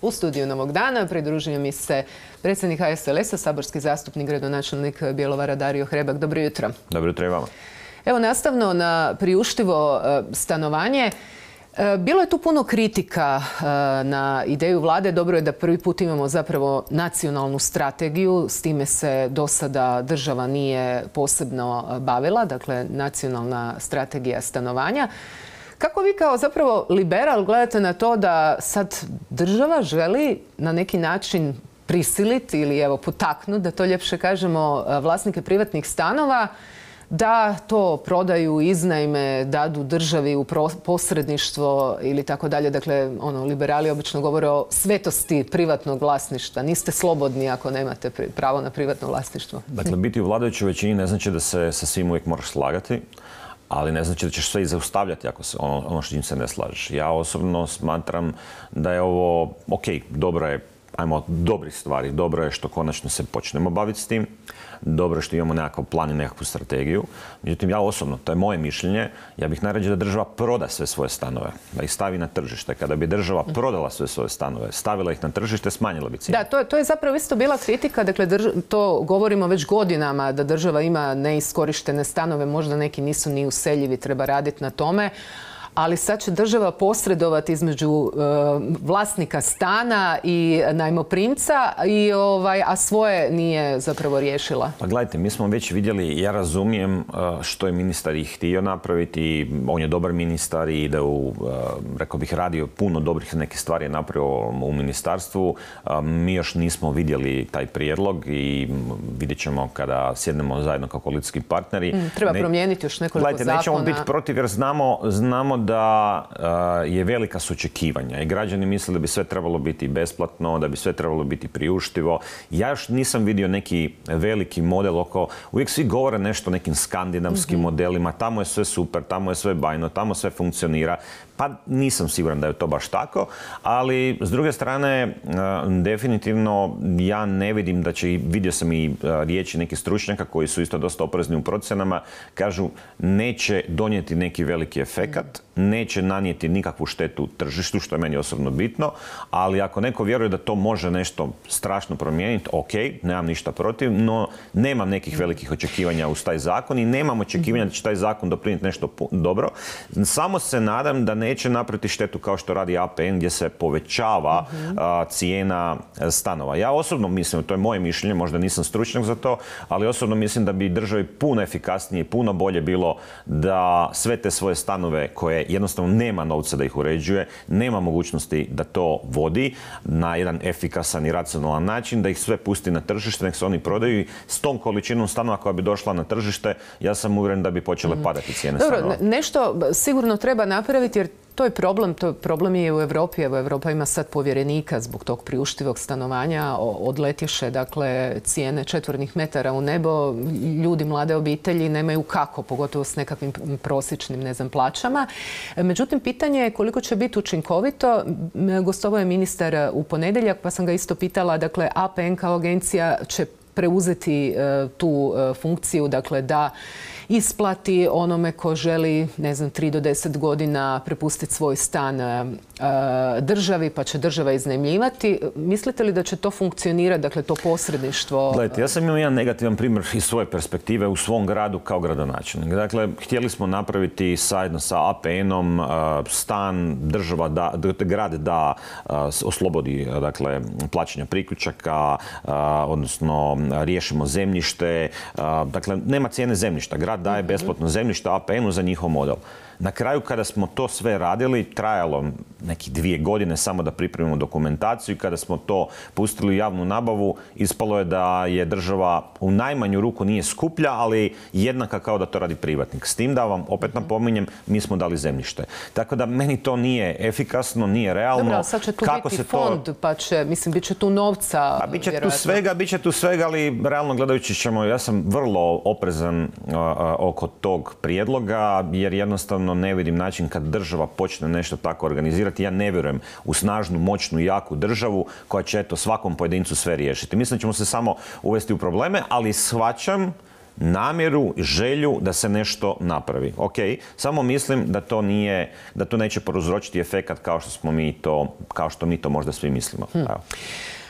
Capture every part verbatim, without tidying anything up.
U studiju Novog dana pridružio mi se predsjednik H S L S-a, saborski zastupnik, gradonačelnik Bjelovara Dario Hrebak. Dobro jutro. Dobro jutro i vama. Evo, nastavno na priuštivo stanovanje. Bilo je tu puno kritika na ideju vlade. Dobro je da prvi put imamo zapravo nacionalnu strategiju. S time se do sada država nije posebno bavila. Dakle, nacionalna strategija stanovanja. Kako vi kao zapravo liberal gledate na to da sad država želi na neki način prisiliti ili evo potaknuti, da to ljepše kažemo, vlasnike privatnih stanova da to prodaju, iznajme, dadu državi u posredništvo ili tako dalje. Dakle, ono, liberali obično govore o svetosti privatnog vlasništva. Niste slobodni ako nemate pravo na privatno vlasništvo. Dakle, biti u vladajućoj većini ne znači da se sa svim uvijek moraš slagati, ali ne znači da ćeš sve i zaustavljati ako se ono, ono što njim se ne slažeš. Ja osobno smatram da je ovo, ok, dobro je, ajmo, dobrih stvari. Dobro je što konačno se počnemo baviti s tim. Dobro je što imamo nekakav plan i nekakvu strategiju. Međutim, ja osobno, to je moje mišljenje, ja bih najrađe da država proda sve svoje stanove, da ih stavi na tržište. Kada bi država prodala sve svoje stanove, stavila ih na tržište, smanjila bi cijenu. Da, to je, to je zapravo isto bila kritika. Dakle, drž, to govorimo već godinama, da država ima neiskorištene stanove, možda neki nisu ni useljivi, treba raditi na tome. Ali sad će država posredovati između uh, vlasnika stana i najmoprimca, i, ovaj, a svoje nije zapravo riješila. Pa gledajte, mi smo već vidjeli, ja razumijem uh, što je ministar i htio napraviti. On je dobar ministar i da u, uh, rekao bih, radio puno dobrih neke stvari je napravio u ministarstvu. Uh, mi još nismo vidjeli taj prijedlog i vidjet ćemo kada sjednemo zajedno kao koalicijski partneri. Mm, treba ne, promijeniti još nekoliko gledajte, zakona. Nećemo biti protiv jer znamo, znamo da uh, je velika su očekivanja i građani misle da bi sve trebalo biti besplatno, da bi sve trebalo biti priuštivo. Ja još nisam vidio neki veliki model oko, uvijek svi govore nešto o nekim skandinavskim mm-hmm. modelima, tamo je sve super, tamo je sve bajno, tamo sve funkcionira. Pa nisam siguran da je to baš tako, ali s druge strane uh, definitivno ja ne vidim da će, vidio sam i uh, riječi nekih stručnjaka koji su isto dosta oprezni u procjenama, kažu neće donijeti neki veliki efekat, neće nanijeti nikakvu štetu tržištu, što je meni osobno bitno, ali ako neko vjeruje da to može nešto strašno promijeniti, ok, nemam ništa protiv, no nemam nekih velikih očekivanja uz taj zakon i nemam očekivanja da će taj zakon doprinijeti nešto dobro. Samo se nadam da neće napraviti štetu kao što radi A P N gdje se povećava uh, cijena stanova. Ja osobno mislim, to je moje mišljenje, možda nisam stručnjak za to, ali osobno mislim da bi državi puno efikasnije i puno bolje bilo da sve te svoje stanove koje jednostavno nema novca da ih uređuje, nema mogućnosti da to vodi na jedan efikasan i racionalan način, da ih sve pusti na tržište, nek se oni prodaju i s tom količinom stanova koja bi došla na tržište, ja sam uvjeren da bi počele padati cijene Dobro, stanova. Nešto sigurno treba napraviti jer to je problem, to je problem je u Europi. Evo, Europa ima sad povjerenika zbog tog priuštivog stanovanja. Odletješe, dakle, cijene četvornih metara u nebo. Ljudi, mlade obitelji nemaju kako, pogotovo s nekakvim prosječnim, ne znam, plaćama. Međutim, pitanje je koliko će biti učinkovito. Gostovao je ministar u ponedjeljak, pa sam ga isto pitala, dakle, A P N kao agencija će preuzeti uh, tu uh, funkciju, dakle, da isplati onome ko želi, ne znam, tri do deset godina prepustiti svoj stan uh, državi, pa će država iznajmljivati. Mislite li da će to funkcionirati, dakle, to posredništvo? Gledajte, ja sam imao jedan negativan primjer iz svoje perspektive u svom gradu kao gradonačelnik. Dakle, htjeli smo napraviti zajedno sa A P N-om uh, stan, država da, grad da uh, oslobodi, dakle, plaćanja priključaka, uh, odnosno riješimo zemljište. Uh, dakle, nema cijene zemljišta. Grad daje besplatno zemljište A P N-u za njihov model. Na kraju, kada smo to sve radili, trajalo nekih dvije godine samo da pripremimo dokumentaciju i kada smo to pustili u javnu nabavu, ispalo je da je država u najmanju ruku nije skuplja, ali jednaka kao da to radi privatnik. S tim da vam, opet napominjem, mi smo dali zemljište. Tako da meni to nije efikasno, nije realno. Dobro, sad će tu Kako biti se to... fond, pa će, mislim, bit će tu novca. Pa bit će tu svega, bit će tu svega, ali realno gledajući ćemo, ja sam vrlo oprezan uh, uh, oko tog prijedloga, jer jednostavno ne vidim način kad država počne nešto tako organizirati. Ja ne vjerujem u snažnu, moćnu, jaku državu koja će eto svakom pojedincu sve riješiti. Mislim da ćemo se samo uvesti u probleme, ali shvaćam namjeru, želju da se nešto napravi. Ok, samo mislim da to nije, da to neće prouzročiti efekat kao što smo mi to, kao što mi to možda svi mislimo. Hmm.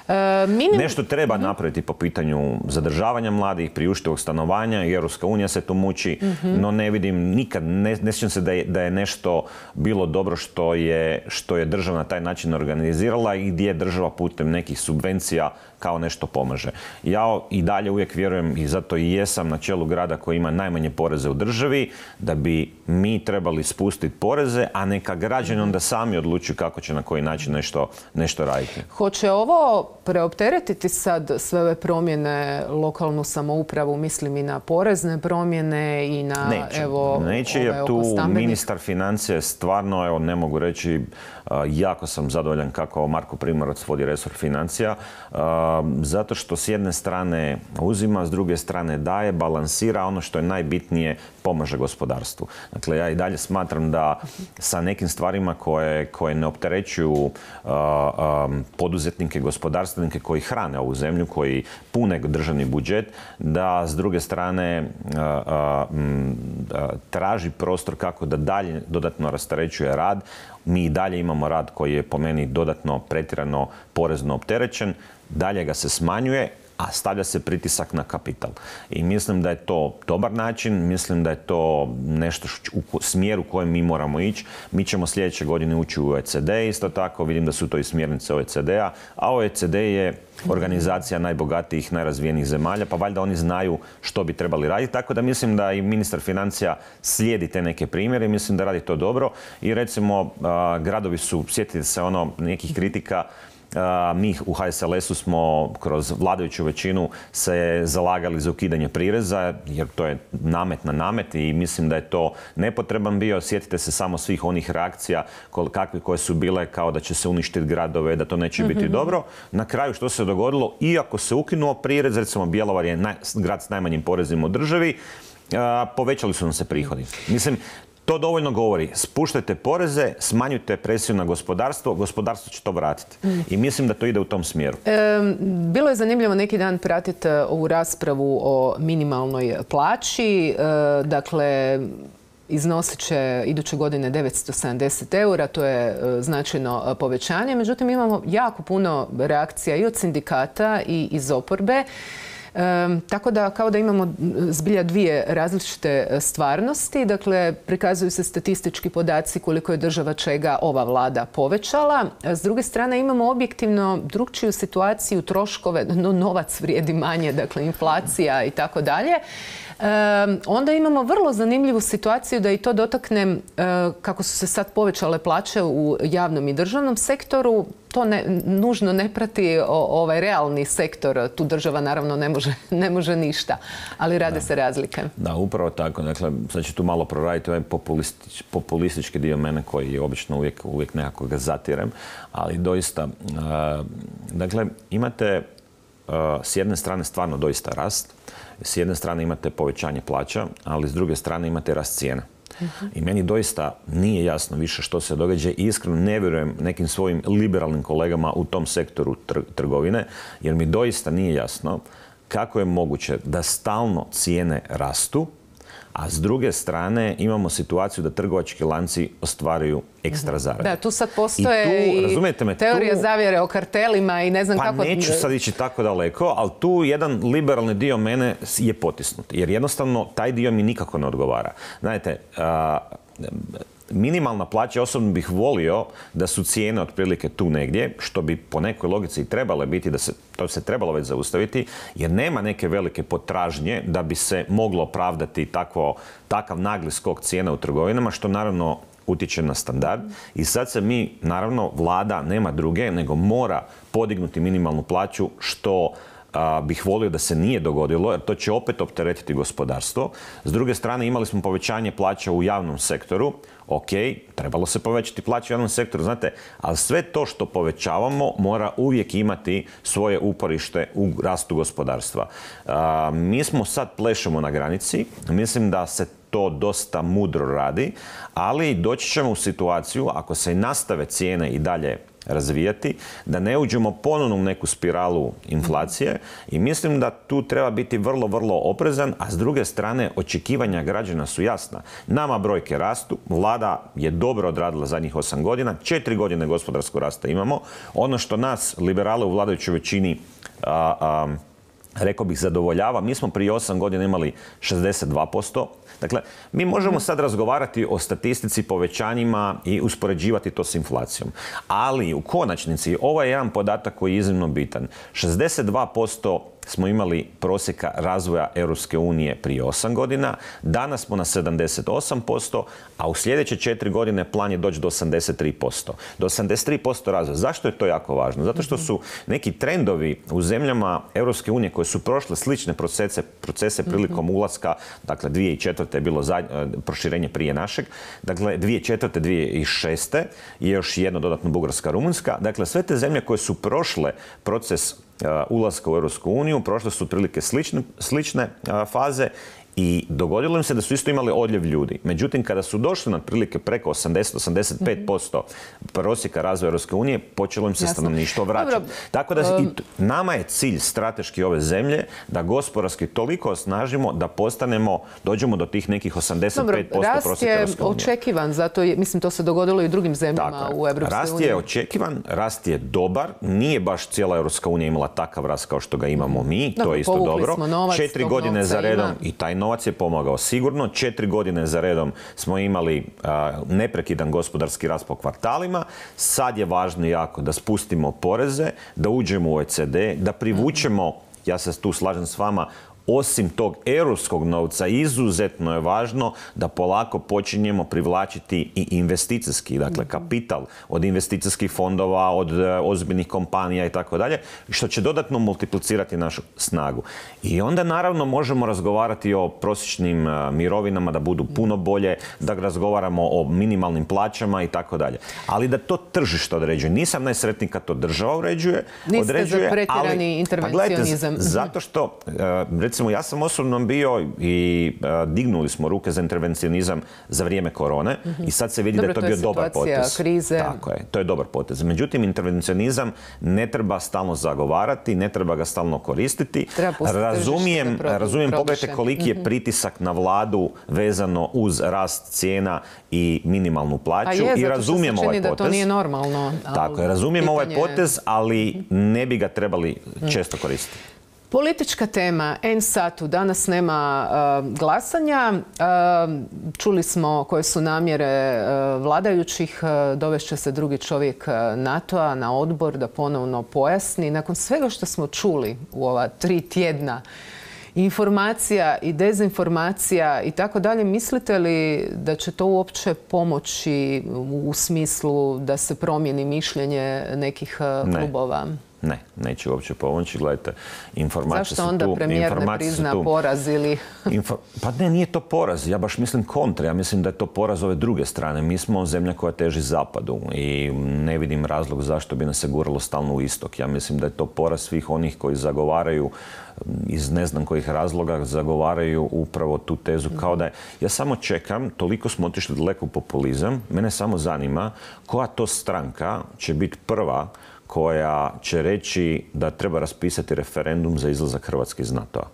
E, minim... Nešto treba napraviti po pitanju zadržavanja mladih, priuštivog stanovanja i Europska unija se tu muči, mm-hmm. no ne vidim nikad, ne, ne sjećam se da je, da je nešto bilo dobro što je, što je država na taj način organizirala i gdje država putem nekih subvencija kao nešto pomaže. Ja i dalje uvijek vjerujem i zato i jesam na čelu grada koji ima najmanje poreze u državi, da bi mi trebali spustiti poreze, a neka građani onda sami odlučuju kako će na koji način nešto, nešto raditi. Hoće ovo preopteretiti sad sve ove promjene lokalnu samoupravu, mislim i na porezne promjene i na neće, evo neće, jer tu ministar financija stvarno, evo ne mogu reći, jako sam zadovoljan kako Marko Primorac vodi resor financija, zato što s jedne strane uzima, s druge strane daje, balansira, ono što je najbitnije pomaže gospodarstvu. Dakle, ja i dalje smatram da sa nekim stvarima koje, koje ne opterećuju uh, um, poduzetnike, gospodarstvenike koji hrane ovu zemlju, koji pune državni budžet, da s druge strane uh, uh, um, uh, traži prostor kako da dalje dodatno rasterećuje rad. Mi i dalje imamo rad koji je po meni dodatno pretjerano porezno opterećen, dalje ga se smanjuje, a stavlja se pritisak na kapital. I mislim da je to dobar način, mislim da je to nešto u smjeru u kojem mi moramo ići. Mi ćemo sljedeće godine ući u O E C D isto tako, vidim da su to i smjernice O E C D-a, a O E C D je organizacija najbogatijih, najrazvijenijih zemalja, pa valjda oni znaju što bi trebali raditi. Tako da mislim da i ministar financija slijedi te neke primjere i mislim da radi to dobro. I recimo, gradovi su, sjetite se ono nekih kritika, Uh, mi u H S L S-u smo kroz vladajuću većinu se zalagali za ukidanje prireza, jer to je namet na namet i mislim da je to nepotreban bio. Sjetite se samo svih onih reakcija kakve koje su bile kao da će se uništiti gradove, da to neće mm-hmm. biti dobro. Na kraju što se dogodilo, iako se ukinuo prirez, recimo Bjelovar je naj, grad s najmanjim porezima u državi, uh, povećali su nam se prihodi. Mislim, to dovoljno govori. Spuštajte poreze, smanjujte presiju na gospodarstvo, gospodarstvo će to vratiti. Mm. I mislim da to ide u tom smjeru. E, bilo je zanimljivo neki dan pratiti ovu raspravu o minimalnoj plaći. E, dakle, iznosit će iduće godine devetsto sedamdeset eura, to je značajno povećanje. Međutim, imamo jako puno reakcija i od sindikata i iz oporbe. E, tako da kao da imamo zbilja dvije različite stvarnosti. Dakle, prikazuju se statistički podaci koliko je država čega ova vlada povećala. S druge strane imamo objektivno drukčiju situaciju, troškove, no novac vrijedi manje, dakle inflacija i tako dalje. E, onda imamo vrlo zanimljivu situaciju da i to dotaknem e, kako su se sad povećale plaće u javnom i državnom sektoru. To ne, nužno ne prati o, ovaj realni sektor. Tu država naravno ne može, ne može ništa, ali rade da. se razlike. Da, upravo tako. Dakle, sad ću tu malo proraditi ovaj populistič, populistički dio mene koji je obično uvijek, uvijek nekako ga zatirem, ali doista, uh, dakle, imate uh, s jedne strane stvarno doista rast, s jedne strane imate povećanje plaća, ali s druge strane imate rast cijena. Uh-huh. I meni doista nije jasno više što se događa i iskreno ne vjerujem nekim svojim liberalnim kolegama u tom sektoru tr- trgovine, jer mi doista nije jasno kako je moguće da stalno cijene rastu, a s druge strane imamo situaciju da trgovački lanci ostvaruju ekstra zarade. Da, tu sad postoje i, tu, i me, teorija tu, zavjere o kartelima i ne znam pa kako... Pa neću sad ići tako daleko, ali tu jedan liberalni dio mene je potisnut. Jer jednostavno taj dio mi nikako ne odgovara. Znate, a, minimalna plaća, osobno bih volio da su cijene otprilike tu negdje, što bi po nekoj logici i trebale biti, da se, to se trebalo već zaustaviti, jer nema neke velike potražnje da bi se moglo opravdati takvo, takav nagli skok cijena u trgovinama, što naravno utječe na standard. I sad se mi, naravno, vlada nema druge, nego mora podignuti minimalnu plaću, što a, bih volio da se nije dogodilo, jer to će opet opteretiti gospodarstvo. S druge strane, imali smo povećanje plaća u javnom sektoru. Ok, trebalo se povećati plaće u javnom sektoru, znate, ali sve to što povećavamo mora uvijek imati svoje uporište u rastu gospodarstva. A, mi smo sad plešemo na granici, mislim da se to dosta mudro radi, ali doći ćemo u situaciju, ako se nastave cijene i dalje razvijati, da ne uđemo ponovno u neku spiralu inflacije i mislim da tu treba biti vrlo, vrlo oprezan, a s druge strane očekivanja građana su jasna. Nama brojke rastu, vlada je dobro odradila zadnjih osam godina, četiri godine gospodarskog rasta imamo. Ono što nas, liberale u vladajućoj većini, a, a, rekao bih, zadovoljava, mi smo prije osam godina imali šezdeset dva posto. Dakle, mi možemo sad razgovarati o statistici, povećanjima i uspoređivati to s inflacijom. Ali u konačnici ovo je jedan podatak koji je iznimno bitan. šezdeset dva posto smo imali prosjeka razvoja Europske unije prije osam godina, danas smo na sedamdeset osam posto, a u sljedeće četiri godine plan je doći do osamdeset tri posto. Do osamdeset tri posto razvoja. Zašto je to jako važno? Zato što su neki trendovi u zemljama Europske unije koje su prošle slične procese, procese prilikom ulaska, dakle dvije tisuće četvrte je bilo zadnje, proširenje prije našeg, dakle dvije tisuće četvrte. dvije tisuće šeste je još jedno dodatno Bugarska, Rumunjska. Dakle, sve te zemlje koje su prošle proces ulaska u Europsku uniju, prošle su otprilike slične, slične faze i dogodilo im se da su isto imali odljev ljudi. Međutim, kada su došli na otprilike preko osamdeset do osamdeset pet posto prosjeka razvoja Europske unije, počelo im se stanovništvo vraćati. Tako da i nama je cilj strateški ove zemlje da gospodarski toliko osnažimo da postanemo, dođemo do tih nekih osamdeset pet posto prosjeka Europske unije. Rast je očekivan, zato je, mislim, to se dogodilo i u drugim zemljama u Europskoj uniji. Rast je očekivan, rast je dobar, nije baš cijela Europska unija imala takav rast kao što ga imamo mi, to je isto dobro. Četiri godine za redom i taj novac je pomagao sigurno. Četiri godine za redom smo imali a, neprekidan gospodarski rast po kvartalima. Sad je važno jako da spustimo poreze, da uđemo u O E C D, da privučemo, ja se tu slažem s vama, osim tog europskog novca, izuzetno je važno da polako počinjemo privlačiti i investicijski, dakle kapital od investicijskih fondova, od ozbiljnih kompanija i tako dalje, što će dodatno multiplicirati našu snagu. I onda naravno možemo razgovarati o prosječnim mirovinama da budu puno bolje, da razgovaramo o minimalnim plaćama i tako dalje. Ali da to tržište određuje. Nisam najsretniji kad to država uređuje, Niste određuje, za pretjerani intervencionizam. Pa zato što, recimo, ja sam osobno bio i uh, dignuli smo ruke za intervencionizam za vrijeme korone mm-hmm. i sad se vidi Dobro, da je to bio dobar potez. Krize. Tako je, to je dobar potez. Međutim, intervencionizam ne treba stalno zagovarati, ne treba ga stalno koristiti. Razumijem, razumijem pogledajte koliki je mm-hmm. pritisak na vladu vezano uz rast cijena i minimalnu plaću. Pa je, i razumijem zato što se čini ovaj potez. Da to nije normalno. Tako je, razumijem pitanje... ovaj potez, ali ne bi ga trebali mm. često koristiti. Politička tema, en satu, danas nema uh, glasanja. Uh, čuli smo koje su namjere uh, vladajućih. Uh, dovešće se drugi čovjek uh, NATO-a na odbor da ponovno pojasni. Nakon svega što smo čuli u ova tri tjedna, informacija i dezinformacija i tako dalje, mislite li da će to uopće pomoći u smislu da se promijeni mišljenje nekih uh, klubova? Ne, neće uopće pomoći. Gledajte, informacije su tu. Zašto onda premijer ne prizna poraz ili... Info... Pa ne, nije to poraz. Ja baš mislim kontra. Ja mislim da je to poraz ove druge strane. Mi smo zemlja koja teži zapadu i ne vidim razlog zašto bi nas se guralo stalno u istok. Ja mislim da je to poraz svih onih koji zagovaraju iz ne znam kojih razloga zagovaraju upravo tu tezu kao da je... Ja samo čekam, toliko smo otišli daleko u populizam, mene samo zanima koja to stranka će biti prva koja će reći da treba raspisati referendum za izlazak Hrvatske iz NATO-a.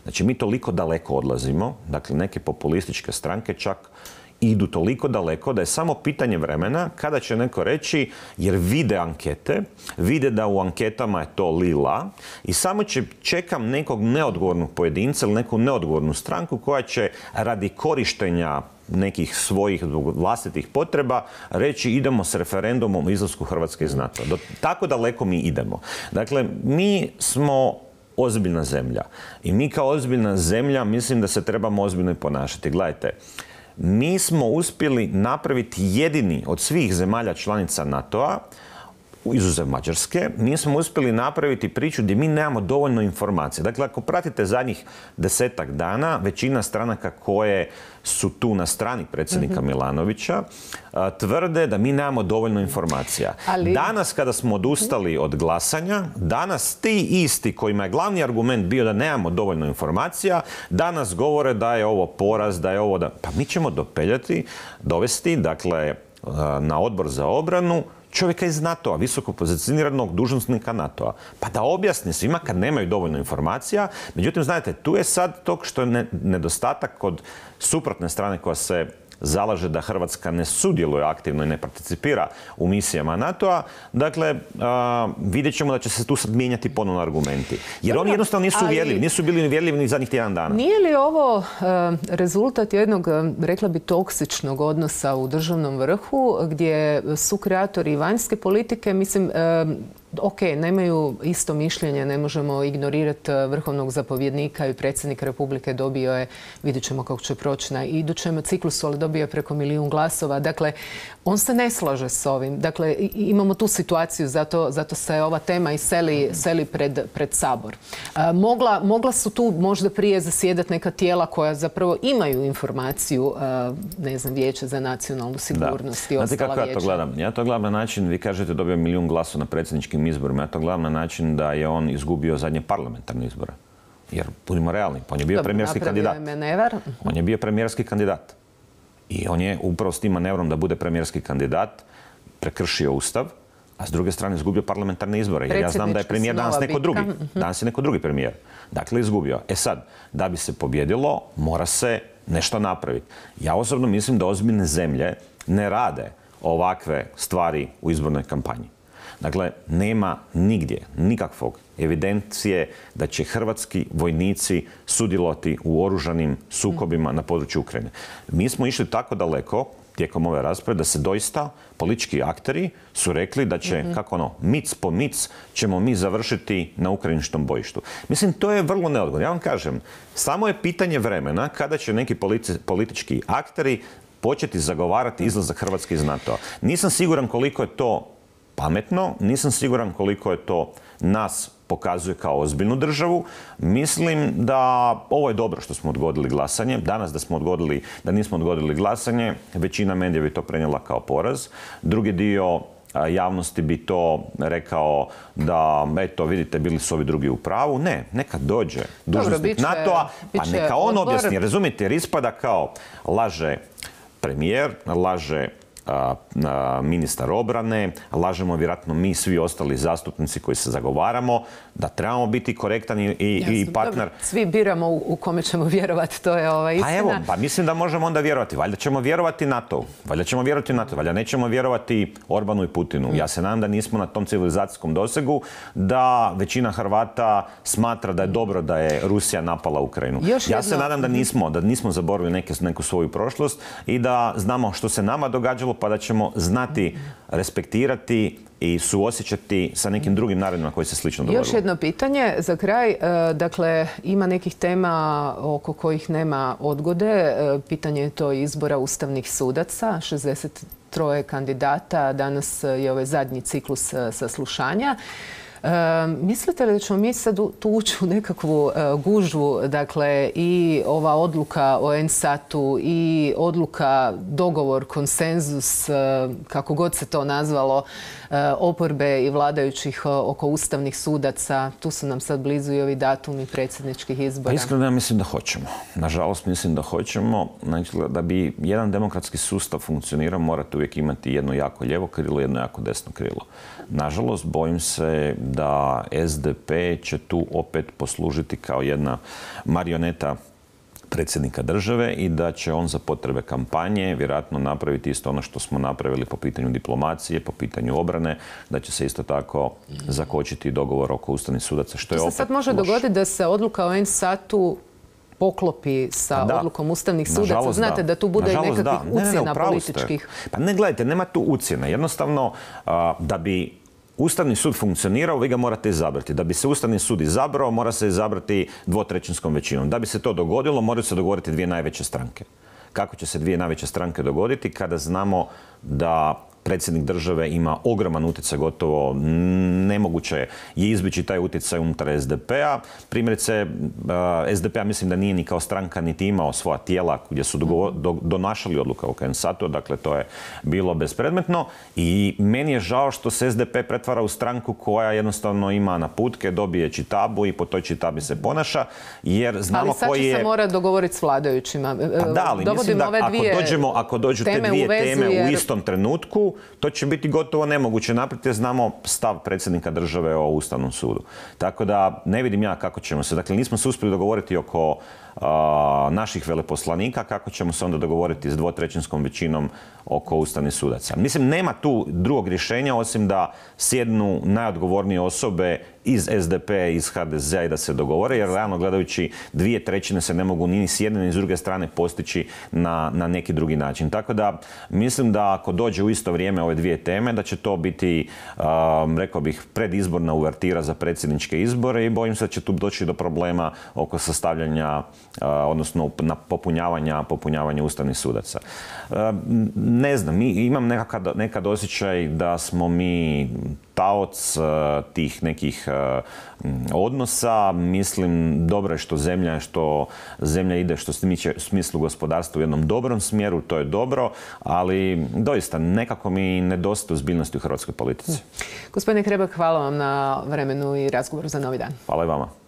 Znači, mi toliko daleko odlazimo, dakle, neke populističke stranke čak idu toliko daleko da je samo pitanje vremena kada će neko reći, jer vide ankete, vide da u anketama je to lila i samo će čekam nekog neodgovornog pojedinca ili neku neodgovornu stranku koja će radi korištenja nekih svojih vlastitih potreba reći idemo s referendumom o izlasku Hrvatske iz NATO. Do, tako daleko mi idemo. Dakle, mi smo ozbiljna zemlja i mi kao ozbiljna zemlja mislim da se trebamo ozbiljno ponašati. Gledajte, mi smo uspjeli napraviti jedini od svih zemalja članica NATO-a, izuzev Mađarske, mi smo uspjeli napraviti priču gdje mi nemamo dovoljno informacija. Dakle, ako pratite zadnjih desetak dana, većina stranaka koje su tu na strani predsjednika mm-hmm. Milanovića tvrde da mi nemamo dovoljno informacija. Ali... Danas kada smo odustali od glasanja, danas ti isti kojima je glavni argument bio da nemamo dovoljno informacija, danas govore da je ovo poraz, da je ovo... Da... Pa mi ćemo dopeljati, dovesti, dakle, na odbor za obranu čovjeka iz NATO-a, visoko pozicioniranog dužnosnika NATO-a, pa da objasni svima kad nemaju dovoljno informacija. Međutim, znate, tu je sad to što je nedostatak kod suprotne strane koja se zalaže da Hrvatska ne sudjeluje aktivno i ne participira u misijama NATO-a. Dakle, a, vidjet ćemo da će se tu sad mijenjati ponovno argumenti. Jer oni jednostavno nisu uvjerljivi, nisu bili uvjerljivi ni zadnjih tjedan dana. Nije li ovo a, rezultat jednog, rekla bi, toksičnog odnosa u državnom vrhu, gdje su kreatori vanjske politike, mislim, a, ok, nemaju isto mišljenje, ne možemo ignorirati vrhovnog zapovjednika i predsjednik Republike dobio je, vidjet ćemo kako će proći na idućem ciklusu, ali dobio je preko milijun glasova. Dakle, on se ne slaže s ovim. Dakle, imamo tu situaciju, zato, zato se ova tema i seli, seli pred, pred Sabor. A, mogla, mogla su tu možda prije zasjedati neka tijela koja zapravo imaju informaciju, a, ne znam, Vijeće za nacionalnu sigurnost i ostala vijeća. Znate kako ja to gledam? Ja to gledam na način, vi kažete dobio milijun glasova na predsjedničkim izborima. Ja to gledam na način da je on izgubio zadnje parlamentarne izbore. Jer, budimo realni, on je bio premijerski kandidat. On je bio premijerski kandidat. I on je upravo s tim manevrom da bude premijerski kandidat prekršio Ustav, a s druge strane izgubio parlamentarne izbore. Jer ja znam da je premijer danas neko drugi. Danas je neko drugi premijer. Dakle, izgubio. E sad, da bi se pobjedilo, mora se nešto napraviti. Ja osobno mislim da ozbiljne zemlje ne rade ovakve stvari u izbornoj kampanji. Dakle, nema nigdje nikakvog evidencije da će hrvatski vojnici sudjelovati u oružanim sukobima na području Ukrajine. Mi smo išli tako daleko tijekom ove rasprave da se doista politički akteri su rekli da će, mm-hmm. kako ono, mic po mic ćemo mi završiti na ukrajinškom bojištu. Mislim, to je vrlo neodgovorno. Ja vam kažem, samo je pitanje vremena kada će neki politi- politički akteri početi zagovarati izlazak Hrvatske iz NATO-a. Nisam siguran koliko je to pametno, nisam siguran koliko je to nas pokazuje kao ozbiljnu državu. Mislim da ovo je dobro što smo odgodili glasanje. Danas da smo odgodili, da nismo odgodili glasanje, većina medija bi to prenijela kao poraz. Drugi dio javnosti bi to rekao da, eto, vidite, bili su ovi drugi u pravu. Ne, neka dođe dužnosnik NATO-a, pa neka on objasni. Razumijete, jer ispada kao laže premijer, laže A, a, ministar obrane, lažemo vjerojatno mi svi ostali zastupnici koji se zagovaramo, da trebamo biti korektan i, i, i partner. Dobro, svi biramo u, u kome ćemo vjerovati, to je ova istina. Pa evo, pa mislim da možemo onda vjerovati. Valjda ćemo vjerovati NATO, valjda ćemo vjerovati NATO, valjda nećemo vjerovati Orbanu i Putinu. Mm. Ja se nadam da nismo na tom civilizacijskom dosegu, da većina Hrvata smatra da je dobro da je Rusija napala Ukrajinu. Još ja jedno... se nadam da nismo, da nismo zaboravili neke, neku svoju prošlost i da znamo što se nama događalo, pa da ćemo znati respektirati i suosjećati sa nekim drugim narodima koji se slično dogodilo. Još jedno pitanje za kraj. Dakle, ima nekih tema oko kojih nema odgode. Pitanje je to izbora ustavnih sudaca, šezdeset troje kandidata. Danas je ovaj zadnji ciklus saslušanja. E, mislite li da ćemo mi sad tu ući u nekakvu e, gužvu, dakle i ova odluka o en satu i odluka, dogovor, konsenzus, e, kako god se to nazvalo, e, oporbe i vladajućih e, oko ustavnih sudaca, tu su nam sad blizu i ovi datumi predsjedničkih izbora. Pa iskreno ja mislim da hoćemo. Nažalost mislim da hoćemo. Znači, da bi jedan demokratski sustav funkcionirao morate uvijek imati jedno jako lijevo krilo, jedno jako desno krilo. Nažalost, bojim se da es de pe će tu opet poslužiti kao jedna marioneta predsjednika države i da će on za potrebe kampanje vjerojatno napraviti isto ono što smo napravili po pitanju diplomacije, po pitanju obrane, da će se isto tako zakočiti dogovor oko ustavnih sudaca, što je opet loš. Sad može dogoditi da se odluka o en satu poklopi sa da, odlukom ustavnih sudaca. Znate da, da tu bude nažalost, nekakvih da. ucjena ne, ne, ne, političkih. Pa ne, gledajte, nema tu ucjena. Jednostavno, a, da bi Ustavni sud funkcionirao, vi ga morate izabrati. Da bi se Ustavni sud izabrao, mora se izabrati dvotrećinskom većinom. Da bi se to dogodilo, moraju se dogovoriti dvije najveće stranke. Kako će se dvije najveće stranke dogoditi kada znamo da predsjednik države ima ogroman utjecaj, gotovo nemoguće je izbjeći taj utjecaj unutar es de pe-a. Primjerice, es de pe-a mislim da nije ni kao stranka niti imao svoja tijela gdje su donašali odluka o en satu, dakle to je bilo bespredmetno. I meni je žao što se es de pe pretvara u stranku koja jednostavno ima naputke, dobije čitabu i po toj čitabi se ponaša, jer znamo koji je... Ali sad će se mora dogovoriti s vladajućima. Pa da, ali mislim da ako dođemo, ako dođu te dvije teme u istom trenutku, tu, to će biti gotovo nemoguće napraviti jer znamo stav predsjednika države o Ustavnom sudu. Tako da ne vidim ja kako ćemo se. Dakle, nismo se uspjeli dogovoriti oko a, naših veleposlanika, kako ćemo se onda dogovoriti s dvotrećinskom većinom oko ustavnih sudaca. Mislim, nema tu drugog rješenja osim da sjednu najodgovornije osobe iz S D P, iz H D Z-a i da se dogovore, jer realno gledajući dvije trećine se ne mogu ni s jedne ni s druge strane postići na, na neki drugi način. Tako da mislim da ako dođe u isto vrijeme ove dvije teme, da će to biti, um, rekao bih, predizborna uvertira za predsjedničke izbore i bojim se da će tu doći do problema oko sastavljanja, uh, odnosno na popunjavanja, popunjavanja ustavnih sudaca. Uh, ne znam, mi, imam nekad, nekad osjećaj da smo mi taoc uh, tih nekih uh, odnosa. Mislim, dobro je što zemlja, što zemlja ide što se tiče u smislu gospodarstva u jednom dobrom smjeru, to je dobro, ali doista nekako mi nedostaje ozbiljnosti u hrvatskoj politici. Gospodine Hrebak, hvala vam na vremenu i razgovoru za Novi dan. Hvala i vama.